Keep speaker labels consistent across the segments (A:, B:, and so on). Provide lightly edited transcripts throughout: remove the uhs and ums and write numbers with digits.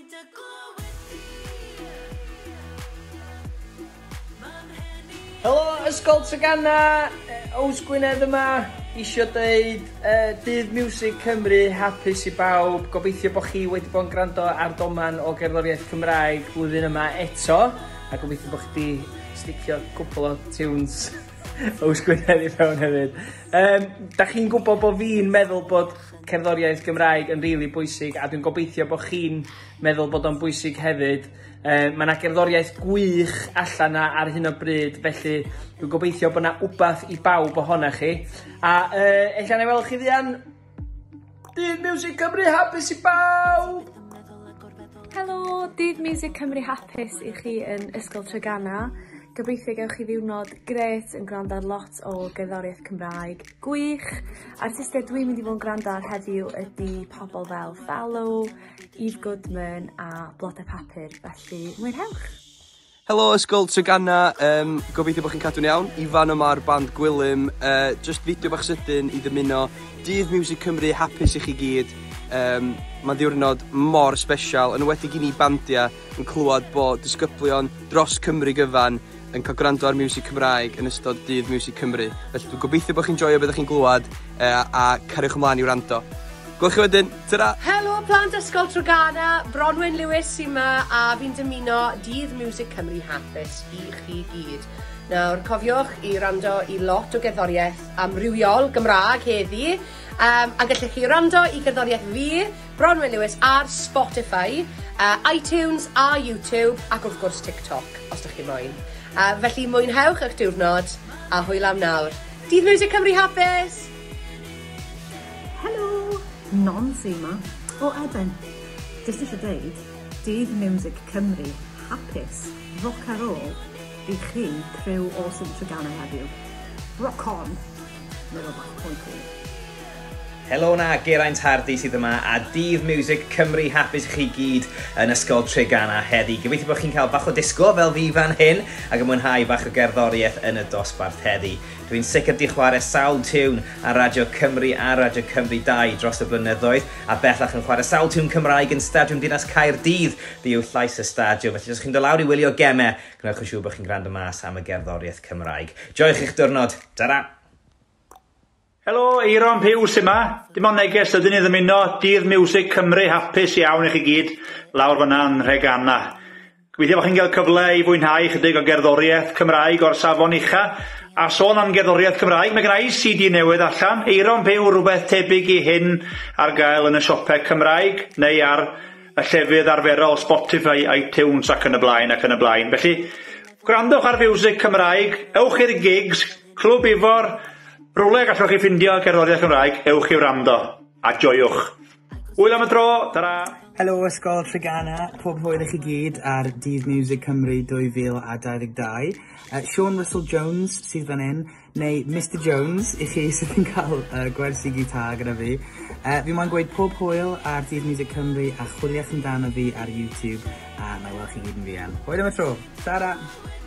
A: dy glywed di.
B: Helo Ysgol Treganna, Ows Gwynedd yma, isio deud uh, Dydd Miwsig Cymru hapus i bawb, gobeithio bod chi wedi bod yn gwrando ar doman o gerddoriaeth Cymraeg blwyddyn yma eto, a gobeithio bod chi wedi sticio cwpl o tunes Ows Gwynedd i fewn hefyd. Um, da chi'n gwybod bod fi'n meddwl bod cerddoriaeth Gymraeg yn rili bwysig a dwi'n gobeithio bod chi'n meddwl bod o'n bwysig hefyd. Yy ma' 'na gerddoriaeth gwych allan 'na ar hyn o bryd felly dwi'n gobeithio bo' 'na wbath i bawb ohonach chi a yy ella 'nai weld chi fuan. Dydd Miwsig Cymru hapus i bawb!
C: Helo, Dydd Miwsig Cymru hapus i chi yn Ysgol Treganna. Gobeithio gewch chi ddiwrnod grêt yn gwrando ar lot o gerddoriaeth Cymraeg gwych. Artistiaid dwi'n mynd i fod yn gwrando ar heddiw ydi pobl fel Fallow, Eve Goodman a Blode Papur, felly mwynhewch!
D: Helo Ysgol Treganna, um, gobeithio bod chi'n cadw'n iawn. Ifan yma ar band Gwilym, uh, just fideo bach sydyn i ddymuno Dydd Miwsig Cymru hapus i chi gyd. Um, Mae'n ddiwrnod mor sbesial, yn enwedig i ni bandiau yn clywed bod disgyblion dros Cymru gyfan yn cael gwrando ar miwsig Cymraeg yn ystod Dydd Miwsig Cymru. Felly dwi'n gobeithio bod chi'n joio beth ydych chi'n glywed uh, a cariwch ymlaen i wrando. Gwelwch chi wedyn, tara!
E: Helo plant Ysgol Treganna, Bronwen Lewis sy 'ma a fi'n dymuno Dydd Miwsig Cymru hapus i chi gyd. Nawr cofiwch i wrando i lot o gerddoriaeth amrywiol Gymraeg heddi um, a gallech chi wrando i gerddoriaeth fi, Bronwen Lewis, ar Spotify, uh, iTunes a YouTube ac wrth gwrs TikTok os ydych chi moyn. Uh, felly mwynhewch eich diwrnod a hwyl am nawr. Dydd Miwsig Cymru hapus!
F: Helo! Non sy 'ma, o Eben. Jyst eisiau deud, Dydd Miwsig Cymru hapus, roc a roll i chi criw awesome Treganna heddiw. Rock on! Neu rywbeth mwy cwl.
G: Helo 'na, Geraint Hardy sydd yma a Dydd Miwsig Cymru hapus i chi gyd yn Ysgol Treganna heddi. Gobeithio bod chi'n cael bach o disgo fel fi fan hyn ac yn mwynhau bach o gerddoriaeth yn y dosbarth heddi. Dwi'n sicr 'di chwarae sawl tiwn ar Radio Cymru a Radio Cymru 2 dros y blynyddoedd, a bellach yn chwarae sawl tiwn Cymraeg yn Stadiwm Dinas Caerdydd. Fi yw llais y stadiwm, felly os chi'n dod lawr i wylio gemau, gwnewch yn siŵr bod chi'n gwrando mas am y gerddoriaeth Cymraeg. Joiwch eich diwrnod. Ta-ra!
H: Helo, Eiron Puw sy 'ma. Dim ond neges sydyn i ddymuno Dydd Miwsig Cymru hapus iawn i chi gyd lawr fyna yn Nhreganna. Gobeithio bod chi'n cael cyfle i fwynhau chydig o gerddoriaeth Cymraeg o'r safon ucha. A sôn am gerddoriaeth Cymraeg, mae gen i CD newydd allan, Eiron Puw, rhywbeth tebyg i hyn ar gael yn y siopau Cymraeg neu ar y llefydd arferol Spotify, iTunes ac yn y blaen ac yn y blaen. Felly, gwrandwch ar fiwsig Cymraeg, ewch i'r gigs, Clwb Ifor, rhywle gallwch chi ffindio gerddoriaeth Cymraeg, ewch i wrando, a joiwch. Hwyl am y tro, tara!
I: Helo Ysgol Treganna, pob hwyl i chi gyd ar Dydd Miwsig Cymru 2022. Uh, Sean Russell Jones sydd fan hyn, neu Mister Jones i chi sydd yn cael uh, gwersi gitar gyda fi. Uh, fi moyn gweud pob hwyl ar Dydd Miwsig Cymru a chwiliwch amdano fi ar YouTube a na i weld chi gyd yn fuan. Hwyl am y tro, tara!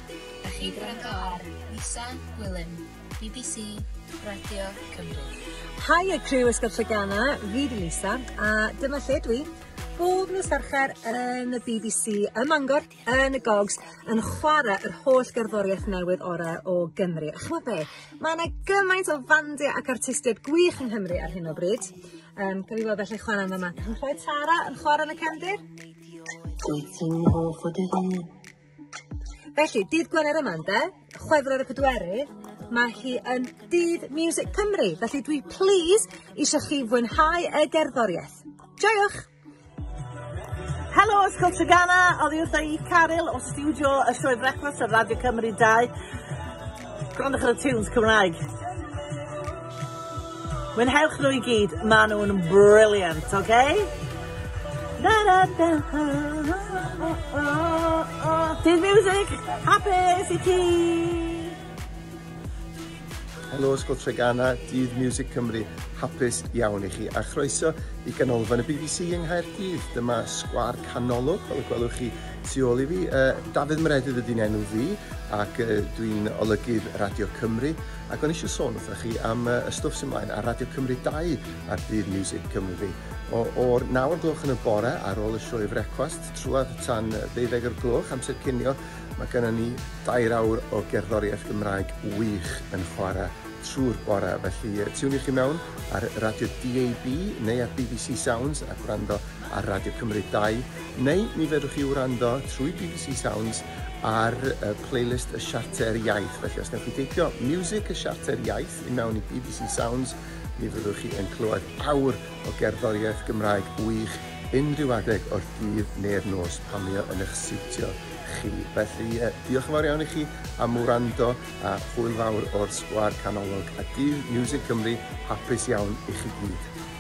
J: Dach chi'n gwrando ar Lisa Gwilym, BBC Radio Cymru.
F: Haia criw Ysgol Treganna, fi 'di Lisa a dyma lle dwi bob nos Fercher yn y BBC ym Mangor yn y Gogs yn chwarae yr holl gerddoriaeth newydd ore o Gymru. A ch'mo' be'? Ma' 'na gymaint o fandia ac artistiaid gwych yng Nghymru ar hyn o bryd. Yym gawn ni weld allai chwarae yn fama. Chi'n clywed Tara yn chwarae yn y cefndir?
A: Wyt ti'n hoff o dy hun?
F: Felly, dydd Gwener yma ynde, Chwefror y pedwerydd, mae hi yn Dydd Miwsig Cymru, felly dwi plîs eisiau chi fwynhau y gerddoriaeth. Joiwch!
K: Helo Ysgol Treganna, oddi wrtha i Caryl o stiwdio y Sioe Frecwast ar Radio Cymru 2. Gwrandwch ar y tunes Cymraeg. Mwynhewch nhw i gyd, maen nhw'n brilliant, oce? Okay? Da da da Dydd Miwsig, hapus i ti!
L: Helo Ysgol Treganna, Dydd Miwsig Cymru, hapus iawn i chi a chroeso i ganolfan y BBC yng Nghaerdydd. Dyma sgwâr canolog, fel y gwelwch chi tu ôl i fi. Uh, Dafydd Meredydd ydy'n enw fi ac uh, dwi'n olygydd Radio Cymru ac o'n eisiau sôn wrthych chi am uh, y stwff sy'n mlaen ar Radio Cymru 2 ar Dydd Miwsig Cymru. O'r 9 o'r gloch yn y bore ar ôl y sioe frecwast, trwad tan 12 o'r gloch amser cinio, mae gennym ni 2 awr o gerddoriaeth Gymraeg wych yn chwarae trwy'r bore. Felly tiwniwch chi mewn ar Radio DAB neu ar BBC Sounds a gwrando ar Radio Cymru 2, neu mi fedrwch chi wrando trwy BBC Sounds ar playlist y Siarter Iaith. Felly os newch chi deipio Music y Siarter Iaith i mewn i BBC Sounds, mi fyddwch chi yn clywed awr o gerddoriaeth Gymraeg wych unrhyw adeg o'r dydd neu'r nos pan mae o yn eich siwtio chi. Felly diolch yn fawr iawn i chi am wrando a hwyl fawr o'r Sgwâr Canolog a Dydd Miwsig Cymru hapus iawn i chi gyd.